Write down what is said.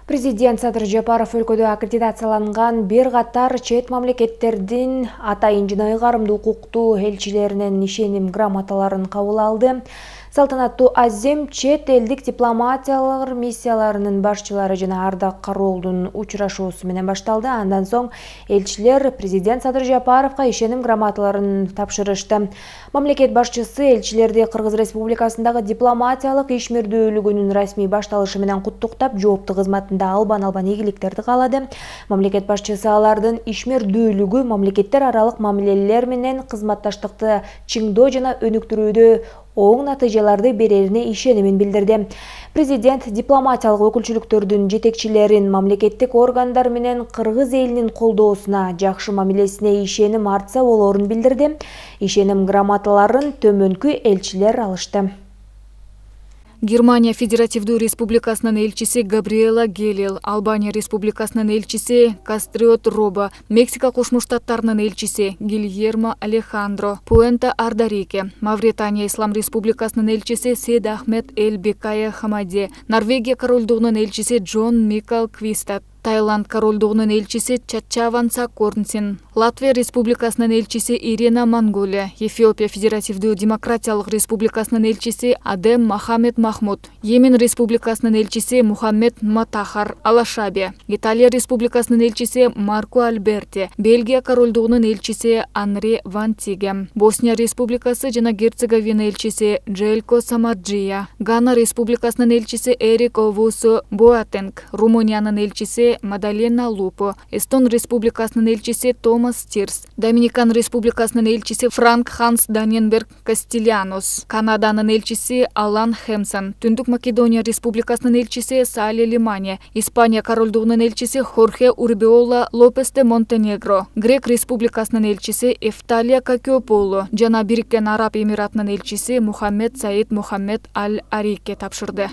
Президент Садыр Жапаров өлкөдө аккредитацияланган бир катар чет мамлекеттердин атайын жана ыйгарымдуу укуктуу элчилеринин ишеним грамоталарын кабыл алды. Салтанаттуу азем чет элдик дипломатиялык миссияларынын башчылары жана Ардак Кароолдун учурашуусу менен башталды. Андан соң элчилер президент Садыр Жапаровго ишеним грамоталарын тапшырышты. Мамлекет башчысы элчилерди Кыргыз Республикасындагы дипломатиялык ишмердүүлүгүнүн расмий башталышы менен куттуктап, жооптуу кызматында албан ийгиликтерди каалады. Мамлекет башчысы алардын ишмердүүлүгү, мамлекеттер аралык мамилелер менен кызматташтыкты чыңдоо жана өнүктүрүүдө оң натыйжаларды берерине ишенимин билдирди. Президент дипломатиялык өкүлчүлүктөрдүн жетекчилерин мамлекеттик органдар менен кыргыз элинин колдоосуна, жакшы мамилесине ишеним артса болоорун билдирди. Ишеним грамоталарын төмөнкү элчилер алышты. Германия Федеративдүү Республикасынын элчиси Габриэла Гелел, Албания Республикасынын элчиси Кастриот Робо, Мексика Кошмо Штаттарынын элчиси Гильермо Алехандро, Пуэнте Ардарике, Мавритания Ислам Республикасынын элчиси Сед Ахмед Эль Бекая Хамаде, Норвегия Королдугунун элчиси Джон Микал Квистат, Таиланд Королдугунун элчиси Чачаван Сакорнсин, Латвия Республикасынын элчиси Ирина Монголия, Эфиопия Федеративдүү Демократиялык Республикасынын элчиси Адем Мохаммед Махмуд, Йемен Республикасынын элчиси Мухаммед Матахар Алашаби, Италия Республикасынын элчиси Марко Альберти, Бельгия Королдугунун элчиси Анри Вантиге, Босния Республикасы жана Герцеговина элчиси Джелько Самарджия, Гана Республикасынын элчиси Эрик Овусу Боатенг, Румыниянын элчиси Мадалена Лупо, Эстон Республикасынын элчиси Томас Тирс, Доминикан Республикасынын элчиси Франк Ханс Даненберг Кастилянос, Канаданын элчиси Алан Хемсон, Түндүк Македония Республикасынын элчиси Сали Лимане, Испания Королдугунун элчиси Хорхе Урбиола Лопес де Монтенегро, Грек Республикасынын элчиси Эфталия Какиополу жана Бириккен Араб Эмиратынын элчиси Мухаммед Саид Мухаммед Аль Арике тапшырды.